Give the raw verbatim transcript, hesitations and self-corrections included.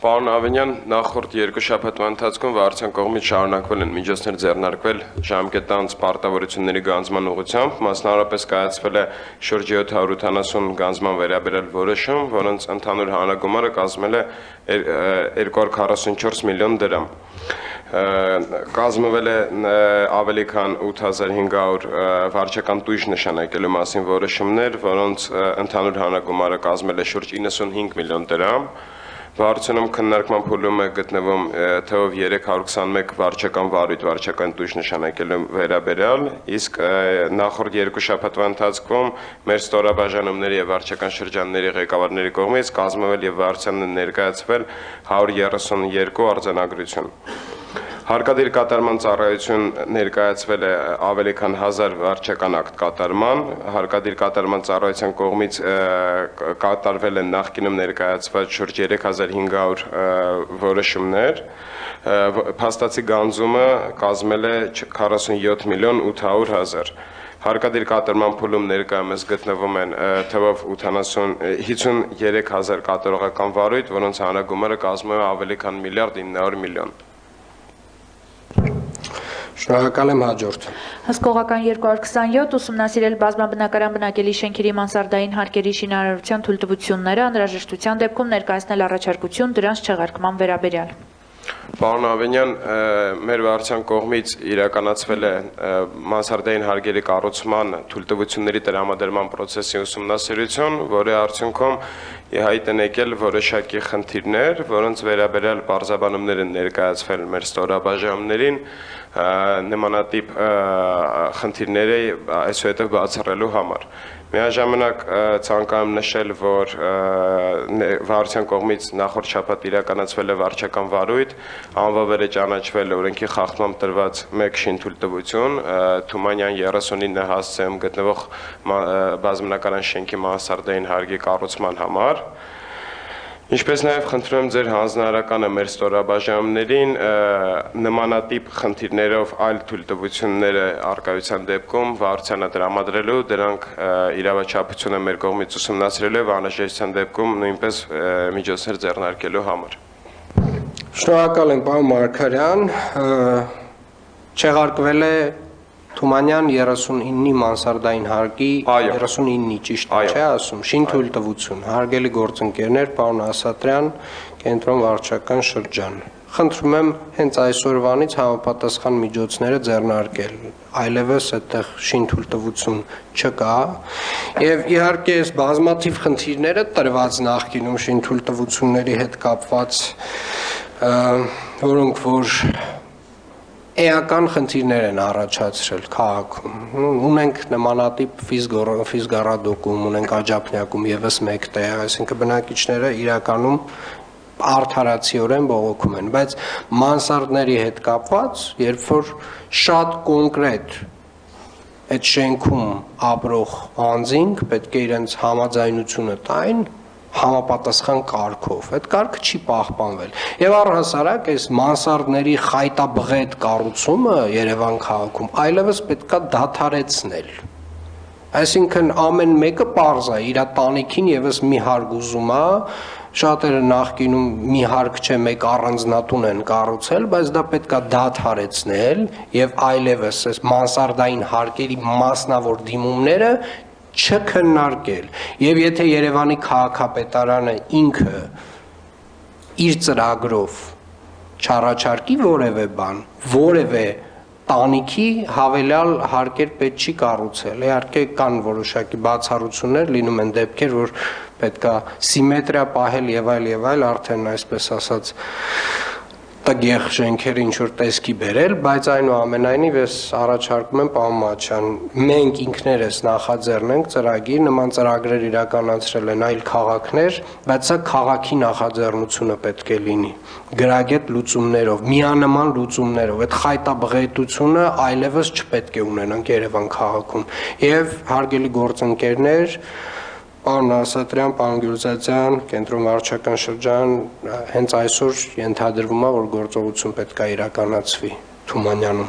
Պարոն Ավենյան, նախորդ երկու շաբաթվա ընթացքում վարչության կողմից շարունակվել են միջոցներ ձեռնարկվել ժամկետանց պարտավորությունների գանձման ուղղությամբ, մասնավորապես կայացվել է շուրջ յոթ հարյուր ութանասուն գանձման վերաբերյալ որոշում, որոնց ընդհանուր հանրագումարը կազմել է երկու հարյուր քառասունչորս միլիոն դրամ։ Կազմվել է ավելի քան ութ հազար հինգ հարյուր վարչական տույժ նշանակելու մասին որոշումներ, որոնց ընդհանուր հանրագումարը կազմել է շուրջ իննսունհինգ միլիոն դրամ։ Վարչությունում քննարկման փուլում է գտնվում թվով երեք հարյուր քսանմեկ վարչական վարույթ վարչական տույժ նշանակելու վերաբերյալ, իսկ նախորդ երկու շաբաթվա ընթացքում մեր ստորաբաժանումների եւ վարչական շրջանների ղեկավարների կողմից կազմվել եւ վարչությանը ներկայացվել հարյուր երեսունյոթ արձանագրություն։ Հարկադիր կատարման ծառայություն ներկայացվել է ավելի քան հազար վարչական ակտ կատարման, հարկադիր կատարման ծառայության կողմից կատարվել են նախկինում ներկայացված շուրջ երեք հազար հինգ հարյուր որոշումներ, փաստացի գանձումը կազմել է քառասունյոթ միլիոն ութ հարյուր հազար։ Հարկադիր կատարման փուլում ներկայումս գտնվում են թվով հիսունյոթ հազար կատարողական վարույթ, որոնց հանրագումարը կազմում է ավելի քան միլիարդ ինը հարյուր միլիոն։ Շնորհակալ եմ, հաջորդ։ Հսկողական երկու հարյուր քսանյոթ ուսումնասիրել բազմաբնակարան բնակելի շենքերի մանսարդային հարկերի շինարարության թույլտվությունները, անհրաժեշտության դեպքում ներկայացնել առաջարկություն դրանց չեղարկման վերաբերյալ։ Պարոն Ավենյան, մեր վարչության կողմից իրականացվել է մանսարդային հարկերի կառուցման թույլտվությունների տրամադրման պրոցեսի ուսումնասիրություն, որի արդյունքում հայտ են եկել որոշակի խնդիրներ, որոնց վերաբերյալ պարզաբանումներ են ներկայացվել մեր ստորաբաժանումներին, նմանատիպ խնդիրները այսուհետև բացառելու համար։ Միաժամանակ ցանկանում նշել, որ վարչության կողմից նախորդ շաբաթ իրականացվել է վարչական վարույթ, անվավեր է ճանաչվել օրենքի խախտմամբ տրված մեկ շինթույլտվություն Թումանյան երեսունինը հասցեում գտնվող բազմաբնակարան շենքի մանսարդային հարկի կառուցման համար։ Ինչպես նաև խնդրում եմ ձեր հանձնարարականը մեր ստորաբաժանումներին նմանատիպ խնդիրներով այլ թույլտվությունները արկայության դեպքում վարչությանը տրամադրելու, դրանք իրավաչափությունը մեր կողմից ուսումնասիրելու եւ անհրաժեշտության դեպքում նույնպես միջոցներ ձեռնարկելու համար։ Շնորհակալ եմ, պարոն Մարգարյան, չեղարկվել է Թումանյան երեսունինի մանսարդային հարկի երեսունինի ճիշտ չէ ասում, շինթույլտվություն, հարգելի գործընկերներ, պարոն Ասատրյան, կենտրոն վարչական շրջան։ Խնդրում եմ հենց այսօրվանից համապատասխան միջոցները ձեռնարկել, այլևս այդտեղ շինթույլտվություն չկա, եւ իհարկե այս բազմաթիվ խնդիրները տրված նախկինում շինթույլտվությունների հետ կապված, որոնք որ էական խնդիրներ են առաջացրել քաղաքում։ Ունենք նմանատիպ ֆիզգառադոկում, ունենք Աջափնյակում եւս մեկ տեղ, այսինքն բնակիչները իրականում արդարացիորեն բողոքում են, բայց մանսարդների հետ կապված, երբ որ շատ կոնկրետ այդ շենքում ապրող անձինք պետք է իրենց համաձայնությունը տային համապատասխան կարգով, այդ կարգը չի պահպանվել։ Եվ առհասարակ այս մանսարդների խայտաբղետ կառուցումը Երևան քաղաքում այլևս պետքա դադարեցնել։ Այսինքն ամեն մեկը պարզ է, իր տանիքին եւս մի հարկ ուզում է, շատերը նախկինում մի հարկ չէ, մեկ առանձնատուն են կառուցել, բայց դա պետքա դադարեցնել եւ այլևս այս մանսարդային հարկերի մասնավոր դիմումները չքննարկել, եւ եթե Երևանի քաղաքապետարանը ինքը իր ծրագրով չառաջարկի որևէ բան, որևէ տանիքի հավելյալ հարկեր պետք չի կառուցել, իհարկե կան որոշակի բացառություններ, լինում են դեպքեր, որ պետքա սիմետրիա պահել եւ այլ եւ այլ, արդեն այսպես ասած տգեղ շենքերը ինչ-որ տեսքի բերել, բայց այնուամենայնիվ ես առաջարկում եմ պարոն Մատչյան, մենք ինքներս նախաձեռնենք ծրագիր, նման ծրագրեր իրականացրել են այլ քաղաքներ, բայց սա քաղաքի նախաձեռնությունը պետք է լինի, գրագետ լուծումներով, միանման լուծումներով, այդ խայտաբղետությունը այլևս չպետք է ունենանք Երևան քաղաքում, եւ հարգելի գործընկերներ, պարոն Ասատրյան, պարոն Գյուլզադյան, կենտրոն վարչական շրջան, հենց այսօր ենթադրվում է, որ գործողություն պետք է իրականացվի Թումանյանում։